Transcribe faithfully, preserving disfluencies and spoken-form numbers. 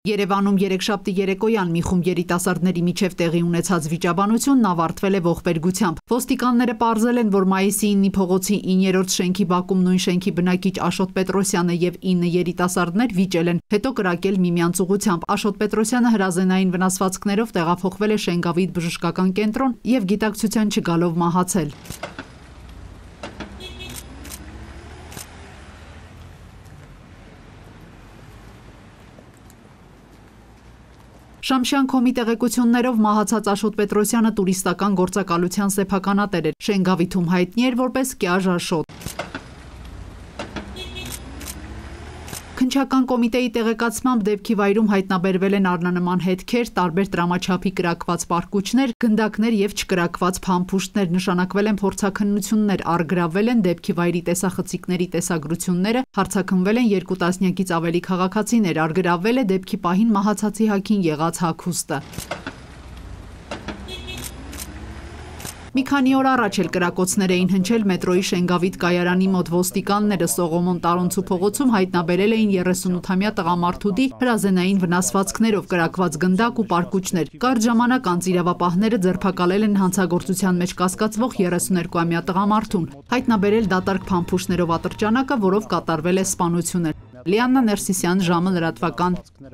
Երևանում երեքշաբթի երեկոյան մի խումբ երիտասարդների միջև տեղի ունեցած վիճաբանությունն ավարտվել է ողբերգությամբ։ Ոստիկանները պարզել են, որ մայիսի ինը փողոցի իններորդ շենքի բակում նույն շենքի բնակիչ Աշոտ Պետրոսյանը եւ ինը երիտասարդներ վիճել են, հետո կրակել միմյանց ուղղությամբ։ Աշոտ Պետրոսյանը հրազենային վնասվածքներով տեղափոխվել է Շենգավիթ բժշկական կենտրոն եւ գիտակցության չգալով մահացել։ Շամշյան.com-ի տեղեկություններով մահացած Աշոտ Պետրոսյանը տուրիստական գործակալության սեփականատեր էր, Շենգավիթում հայտնի էր որպես Կյաժ Աշոտ։ Քննչական կոմիտեի տեղեկացմամբ դեպքի վայրում հայտնաբերվել են առնանման հետքեր, տարբեր տրամաչափի կրակված պարկուճներ, գնդակներ եւ չկրակված փամփուշտներ, նշանակվել են փորձաքննություններ, առգրավվել են դեպքի վայրի տեսախցիկների տեսագրությունները, հարձակնվել են երկու տասնյակից ավելի քաղաքացիներ, առգրավվել է դեպքի պահին մահացածի հագին եղած հագուստը։ Մի քանի օր առաջ էլ կրակոցներ էին հնչել մետրոյի Շենգավիթ կայարանի մոտ, ոստիկանները Սողոմոն Տարոնցու փողոցում հայտնաբերել էին երեսունութամյա տղամարդուդի հրազենային վնասվածքներով կրակված գնդակ ու պարկուճներ։ Կարճ ժամանակ անց իրավապահները ձերբակալել են հանցագործության մեջ կասկածվող երեսուներկուամյա տղամարդուն, հայտնաբերել դատարկ փամփուշտներով ատրճանակը, որով կատարվել է սպանությունը։ Լիաննա Ներսիսյան, ժամը լրատվական։